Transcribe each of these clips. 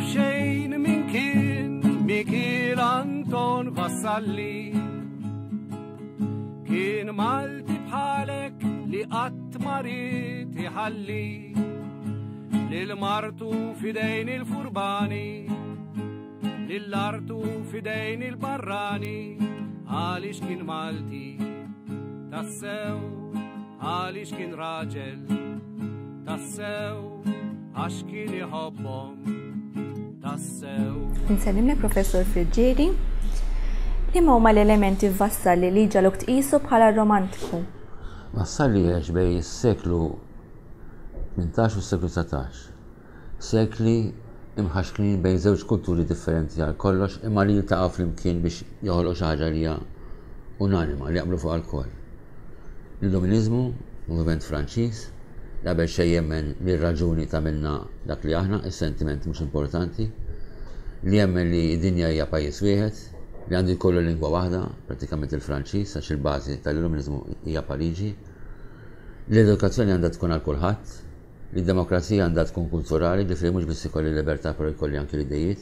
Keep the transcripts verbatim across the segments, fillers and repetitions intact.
Taf xejn min kien Mikiel Anton Vassalli. Kien Malti bħalek li qatt ma ried iħalli lil martu f'idejn il-furbani, lil artu f'idejn il-barrani, għaliex kien Malti tassew, għaliex kien raġel tassew, għax kien iħobbhom tassew. Insellimlek, Professor Friggieri. Liema huma l-elementi f'Vassalli li ġagħluk tqisu bħala romantiku? Vassalli għex bejn is-seklu tmintax u s-seklu dsatax. Sekli imħaxknin bejn żewġ kulturi differenti għal kollox, imma li jiltaqgħu flimkien biex joħolqu xi ħaġa li hija unanima, li jaqblu fuq alkoll. L-Illuminizmu, moviment Franċiż, li qabel xejn jemmen li r-raġuni tagħmilna dak li aħna, is-sentiment mhux importanti, li jemmen li d-dinja hija pajjiż wieħed, li għandu jkollu lingwa waħda, pratikament il-Franċiż, għax il-bażi tal-Illuminizmu hija Pariġi, l-edukazzjoni għandha tkun għal kulħadd, li d-demokrazija għandha tkun kulturali, ġifieri mhux biss ikolli libertà però jkolli anki l-idejiet,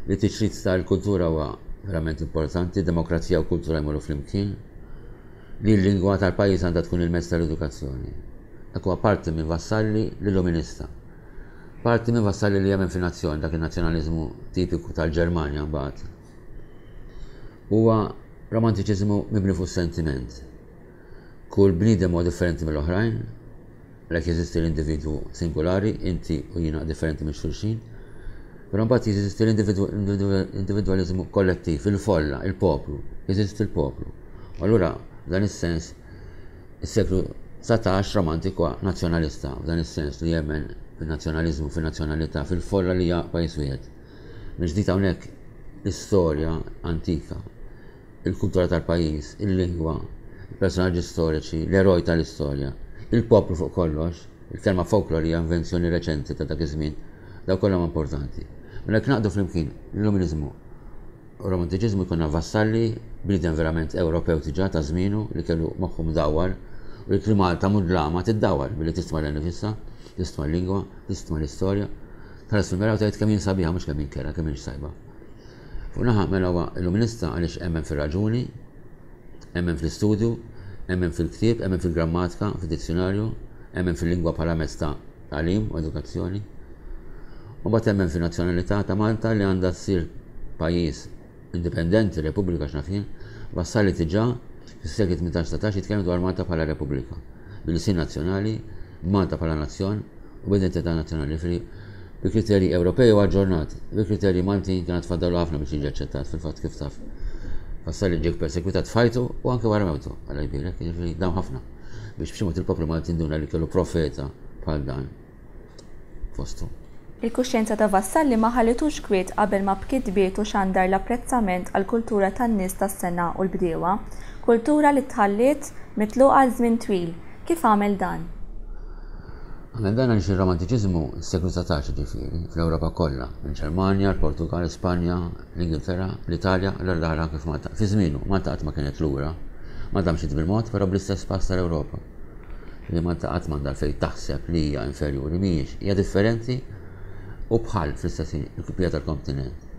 li tiċrid tal-kultura huwa verament importanti, demokrazija u kultura jmorru flimkien, li l-lingwa tal-pajjiż għandha tkun il-mezz tal-edukazzjoni. Dak huwa parti minn Vassalli l-Illuminista. Parti minn Vassalli li jemmen fin-nazzjon, dak in-nazzjonaliżmu tipiku tal-Ġermanja mbagħad. Huwa romantiċiżmu mibni fuq sentiment. Kull bniedem huwa differenti mill-oħrajn, għalhekk jeżisti l-individwu singolari, inti u jiena differenti minn xulxin, però mbagħad jeżisti l-individwaliżmu kollettiv, il-folla, il-poplu, jeżisti l-poplu. U allura f'dan is-sens is-seklu dsatax romantiku nazzjonalista, f'dan is-sens li jemmen fil-nazzjonaliżmu, fil-nazzjonalità, fil-folla li hija pajjiż wieħed. Mill-ġdid hawnhekk l-istorja antika, il-kultura tal-pajjiż, il-lingwa, il-personaġġi storiċi, l-eroj tal-istorja, il-poplu fuq kollox, il-kelma folklor hija invenzjoni reċenti ta' dak iż-żmien, daw kollha huma importanti. Mela jekk naqdu flimkien l-Illuminizmu u romantiċiżmu jkollna Vassalli, bniedem verament Ewropew diġà ta' żmienu li kellu moħħu mdawwar u li klima ta' mudlama tiddawwar billi tistma' lil nifisha, tistma' l-lingwa, tistma' l-istorja. Tħares fil-mera u tgħid kemm jien sabiħa, mhux kemm jien kera, kemm jien sajba. Fuq naħa mela huwa illuminista għaliex emmen fir-raġuni, emmen fl-istudju, emmen fil-ktieb, emmen fil-grammatika, fid-dizzjonarju, emmen fil-lingwa bħala mezz ta' tagħlim u edukazzjoni. U mbagħad emmen fin-nazzjonalità ta' Malta li għandha ssir pajjiż indipendenti, repubblika x'naf jien. Vassalli diġà fis-sekli tmintax satax jitkellem dwar Malta bħala repubblika, bil-lisin nazzjonali, Malta bħala nazzjon u b'identità nazzjonali, ġifieri bi kriterji Ewropej u aġġornati, bi kriterji Maltin kien tfaddalu ħafna biex jiġi aċċettat. Fil-fatt, kif taf, Vassalli ġie persekwitat f'ħajtu u anke wara mewtu, għalla jbirek, jiġifieri dawn ħafna biex b'xi mod il-poplu Malti nduna li kellu profeta bħal dan fostu. Il-kuxjenza ta' Vassalli ma ħallitux kwiet qabel ma b'kitbietu xandar l-apprezzament għall-kultura tan-nies tas-sengħa u l-bdiewa, kultura li tħalliet mitluqa għal żmien twil. Kif għamel dan? Għamel dan għaliex il-romantiċiżmu s-seklu dsatax, ġifieri, fl-Ewropa kollha, il-Ġermanja, il-Portugal, Spanja, l-Ingilterra, l-Italja, l-Irlanda, anke f'Malta. Fi żmienu, Malta qatt ma kienet lura, Malta mxiet bil-mod, però bl-istess pass tal-Ewropa. Li Malta qatt m'għandha fejn taħseb li hija inferjuri, mhijiex, hija differenti u bħal fl-istess ħin il-kopija tal-kontinent.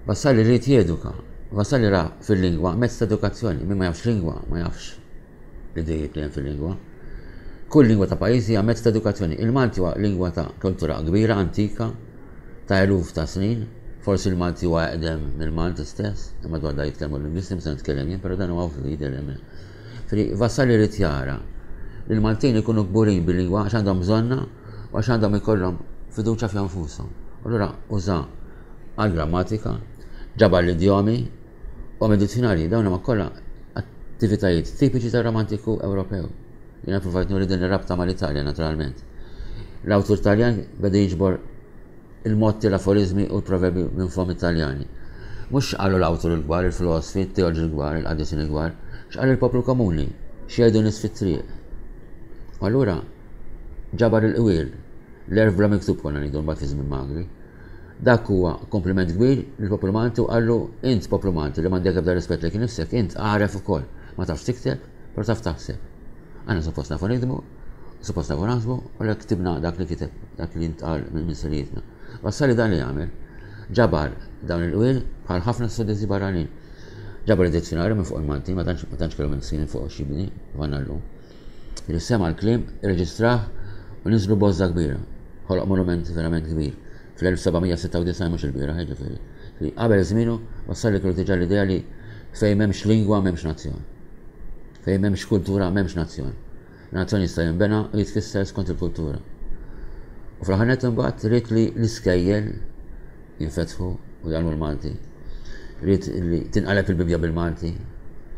Vassalli ried jeduka, Vassalli ra fil-lingwa mezz ta' edukazzjoni, min ma jafx lingwa, ma jafx l-idejiet li hemm fil-lingwa. Kull lingwa ta' pajjiż hija mezz ta' edukazzjoni. Il-Malti huwa lingwa ta' kultura kbira, antika, ta' eluf ta' snin. Forsi il-Malti huwa eqdem mill-Malti stess, imma dwar da jitkellmu l-lingwisti, mhux se nitkellem jien, però dan huwa ovvju jidher hemm. Fri Vassalli ried jara li l-Maltin ikunu kburin bil-lingwa għax għandhom bżonnha u għax għandhom ikollhom fiduċja fihom nfushom. Allura uża għal-grammatika, ġabar l-idjomi u għamel dizzjonarji, dawn huma kollha attivitajiet tipiċi tar-romantiku Ewropew. Jiena provajt nuri din ir-rabta mal-Italja naturalment. L-awtur Taljan beda jiġbor il-motti, l-aforizmi u l-proverbi minn fom Italjani. Mhux x'qalu l-awtur il-kbar, il-filosofi, il-teoloġi l-kbar, il-qaddisin il-kbar, x'qal il-poplu komuni, x'jgħidu nies fit-triq. U allura ġabar il-qwiel, l-għerf bla miktub konna ngħidu mbagħad fi żmien Magri. Dak huwa kompliment kbir lill-poplu Malti u qallu int poplu Malti li m'għandek ebda rispett lejk innifsek, int għaref ukoll. Ma tafx tikteb, però taf taħseb. Aħna suppost nafu nikdbu, suppost nafu naħsbu, u lek ktibna dak li kiteb, dak li ntqal minn missirijietna. Vassalli dan li għamel, ġabar dawn il-qwiel bħal ħafna studenti barranin. Ġabar id-dizzjonarju minn fuq il-Malti, ma tantx kellu minn snin fuq xibni, għanna llum. Sema l-kliem, irreġistrah u niżlu bozza kbira. Ħoloq monument verament kbir. fl-elf seba' mija sitta u disgħin mhux il-bieraħ, jiġifieri. Qabel żmienu Vassalli kellu diġà l-idea li fejn m'hemmx lingwa m'hemmx nazzjon. Fejn m'hemmx kultura m'hemmx nazzjon. Nazzjon jista' jinbena u jitkisser skont il-kultura. U fl-aħħar nett imbagħad ried li l-iskejjel jinfetħu u jgħallmu l-Malti. Ried li tinqaleb il-Bibbja bil-Malti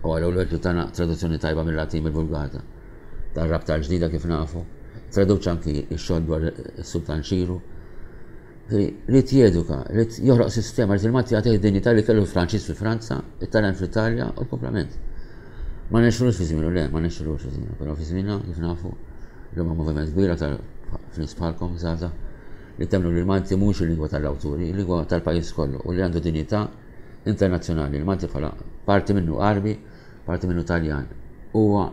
u għal li tana traduzzjoni tajba mill-Latin mill-Vulgata. Tar-rabta l-ġdida kif nafu. Traduċ anki x-xogħol dwar is-Sultan Ċiru. Ried jeduka, ried joħloq sistema, ried il-Malti jagħtih id-dinjità li kellu l-Franċiż fi Franza, it-Taljan fl-Italja u l-komplement. Ma nexxulux fi żmienu, le, ma nexxulux fi żmienu, però fi żmienna kif nafu li huma moviment kbir aktar f'nies bħalkom żgħażagħ li temmnu li l-Malti mhux il-lingwa tal-awturi, il-lingwa tal-pajjiż kollu u li għandu dinjità internazzjonali. Il-Malti bħala parti minnu Għarbi, parti minnu Taljan. Huwa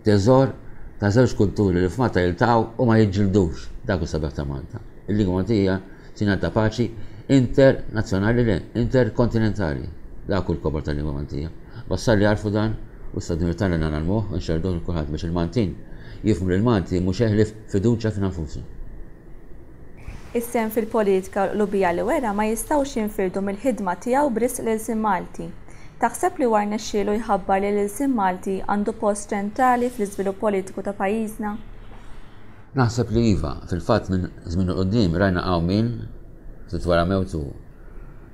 teżor ta' żewġ kulturi li f'Malta jiltaqgħu u ma jiġġildux. Dak hu sabiħ ta' Malta. Il-lingwa Maltija sinjal ta' paċi internazzjonali le, interkontinentali. Dak hu l-kobor tal-lingwa Maltija. Vassalli għarfu dan u issa dmir tagħna nagħmluh u nxerrduh lil kulħadd biex il-Maltin jifhmu li l-Malti mhux eħlif fiduċja fina nfusna. Is-sehem fil-politika u l-qlubija li wera ma jistgħux jinfirdu mill-ħidma tiegħu b'risq l-ilsien Malti. Taħseb li huwa rnexxielu jħabbar li l-ilsien Malti għandu post ċentrali fl-iżvilupp politiku ta' pajjiżna? Naħseb li iva, fil-fatt minn żmien u quddiem rajna qawmien ftit wara mewtu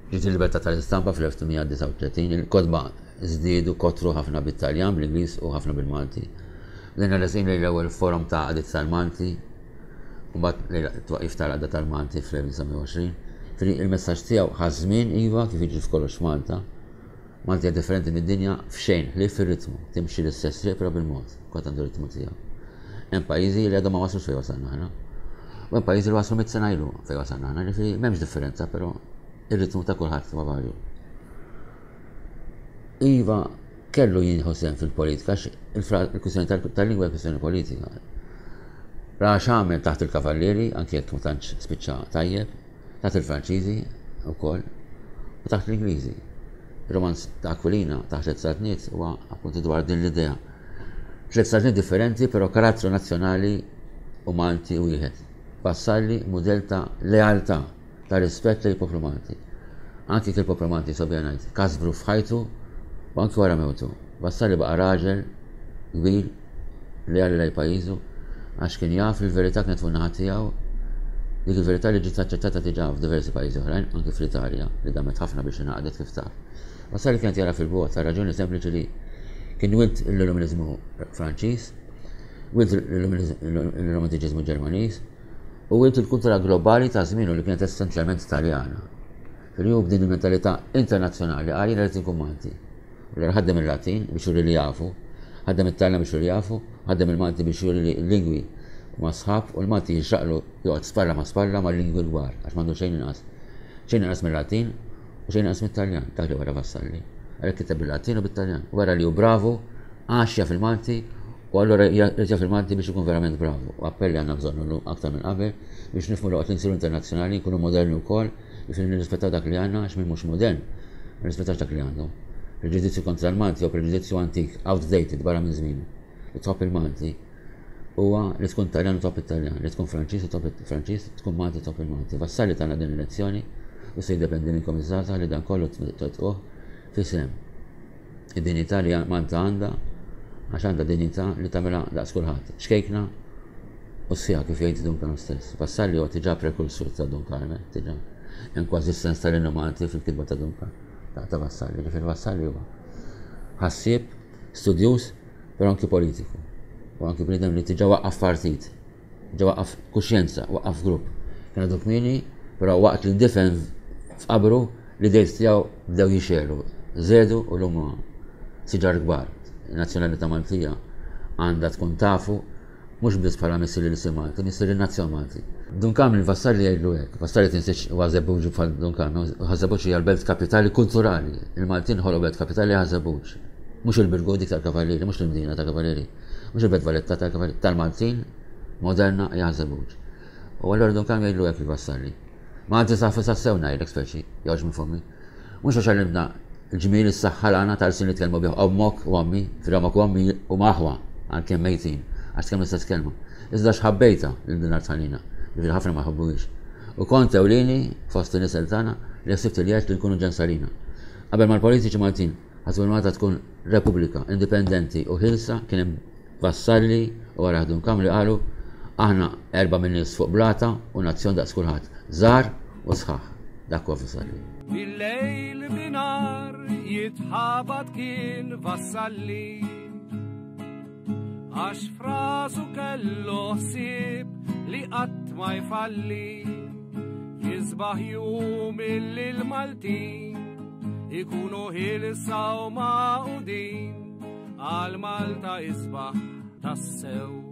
ġiet il-libertà tal-istampa fl-elf tmien mija disgħa u tletin, il-kotba żdiedu kotru ħafna bit-Taljan, bl-Ingliż u ħafna bil-Malti. Bdejna resqin lejn l-ewwel forum ta' għaqdiet tal-Malti, u mbagħad lejn it-twaqif tal-għaqda tal-Malti fl-elf disa' mija u għoxrin. Fili il-messaġġ tiegħu ħa żmien iva kif jiġri f'kollox Malta. Malti hija differenti mid-dinja f'xejn, ħlief fir-ritmu, timxi l-istess triq però bil-mod, kont għandu ritmu tiegħu. Hemm pajjiżi li għadhom ma waslux fejn wasalna aħna. U hemm pajjiżi li waslu mitt sena ilu fejn wasalna aħna, ġifieri m'hemmx differenza, però ir-ritmu ta' kulħadd huwa varju. Iva kellu jieħu sehem fil-politika, għax il-kwistjoni tal-lingwa hija kwistjoni politika. Ra x'għamel taħt il-Kavallieri, anke jekk ma tantx spiċċa tajjeb, taħt il-Franċiżi wkoll, u taħt l-Ingliżi. Il-romanz ta' Aquilina taħt tliet saltniet huwa appuntu dwar din l-idea. Tliet saltniet differenti, però karattru nazzjonali u Malti wieħed. Vassalli mudell ta' lealtà, ta' rispett lejn poplu Malti. Anki kif il-poplu Malti sobja ngħid, kasbru f'ħajtu u anki wara mewtu. Vassalli baqa' raġel kbir leali lejn pajjiżu għax kien jaf il-verità kienet fuq naħa tiegħu, dik il-verità li ġiet aċċettata diġà f'diversi pajjiżi oħrajn, anki fl-Italja, li damet ħafna biex ingħaqdet kif taf. Vassalli kienet jara fil-bogħod ta' raġuni sempliċi li kien wilt l-Illuminizmu Franċiż, wilt l-Romantiċiżmu Ġermaniż u wilt il-kultura globali ta' żmienu li kienet essenzjalment Taljana. Fil-jum b'din il-mentalità internazzjonali qal jiena rrid inkun Malti. U l ħaddem il-Latin biex juri li jafu, ħaddem it-Taljan biex juri li jafu, ħaddem il-Malti biex juri li l-lingwi huma sħab u l-Malti jixraqlu joqgħod spalla ma' spalla ma' lingwi kbar għax m'għandu xejn inqas. Xejn inqas mill-Latin u xejn inqas mit-Taljan, dak li wara Vassalli. Għalhekk kiteb bil-Latin u bit-Taljan. Wara li hu bravu, għax jaf il-Malti u allura jrid jaf il-Malti biex ikun verament bravu. U appelli għandna bżonn illum aktar minn qabel biex nifhmu li waqt li nsiru internazzjonali nkunu moderni wkoll biex nirrispettaw dak li għandna għax min mhux modern ma nirrispettax dak li għandu. Preġudizzju kontra l-Malti jew preġudizzju antik, outdated, barra minn żmienu. Li tħobb il-Malti huwa li tkun Taljan u tħobb it-Taljan, li tkun Franċiż u tħobb il-Franċiż, tkun Malti tħobb il-Malti. Vassalli tagħna din il-lezzjoni u se jiddependi minnkom iż-żgħażagħ li dan kollu twettquh f'isem id-dinjità li Malta għandha, għax għandha dinjità li tagħmilha daqs kulħadd. Xkejkna u sħiħa kif jgħid Dun Karm stess. Vassalli huwa diġà prekursur ta' Dun Karm, diġà. Hemm kważi s-sens tal-innu Malti fil-kitba ta' Dun Karm, ta' Vassalli. Ġifieri Vassalli huwa ħassieb, studjuż, però anki politiku. U anki bniedem li diġà waqqaf partit, diġà waqqaf kuxjenza, waqqaf grupp. Kien għadu kmieni, però waqt li ndifen f'qabru l-idejt tiegħu bdew jixegħlu, żedu u llum siġar kbar. Il-nazzjonalità Maltija għandha tkun tafu mhux biss bħala missier l-ilsien Malti, missier in-nazzjon Malti. Dun Karm il-Vassalli jgħidlu hekk, Vassalli tinsiex huwa Żebbuġ bħal Dun Karm, Ħaż-Żebbuġ hija l-belt kapitali kulturali. Il-Maltin ħolqu belt kapitali Ħaż-Żebbuġ. Mhux il-Birgu dik tal-Kavallieri, mhux l-Imdina tal-Kavallieri, mhux il-Belt Valletta tal-Kavallieri, tal-Maltin moderna hija Ħaż-Żebbuġ. U allura Dun Karm jgħidlu hekk il-Vassalli. Malti safi sassew ngħidlek speċi, joħroġ minn fommi. Mhux għax għallimna l-ġmiel is-saħħa l-għana tal-sin li tkellmu bih ommok u ommi, fil-ommok u ommi u maħwa għalkemm mejtin, għax tkellmu l-istess kelma. Iżda x'ħabbejta lil din l-art ħanina, li ħafna ma jħobbuhiex. U kont ewlieni fost in-nisel tagħna li ħsibt li għext li nkunu ġensalina. Qabel mal-politiċi Maltin ħasbu li Malta tkun repubblika indipendenti u ħielsa, kien hemm Vassalli u wara Dun Karm li qalu aħna erba' min-nies fuq blata u nazzjon daqs kulħadd, żgħar u sħaħ. Dak huwa Vassalli. Bil-lejl binar jitħabat kien Vassalli, għax frasu kellu ħsieb li qatt ma jfalli. Jisbaħ jum illi l-Maltin ikunu ħielsa u magħqudin, għal Malta isbaħ tassew.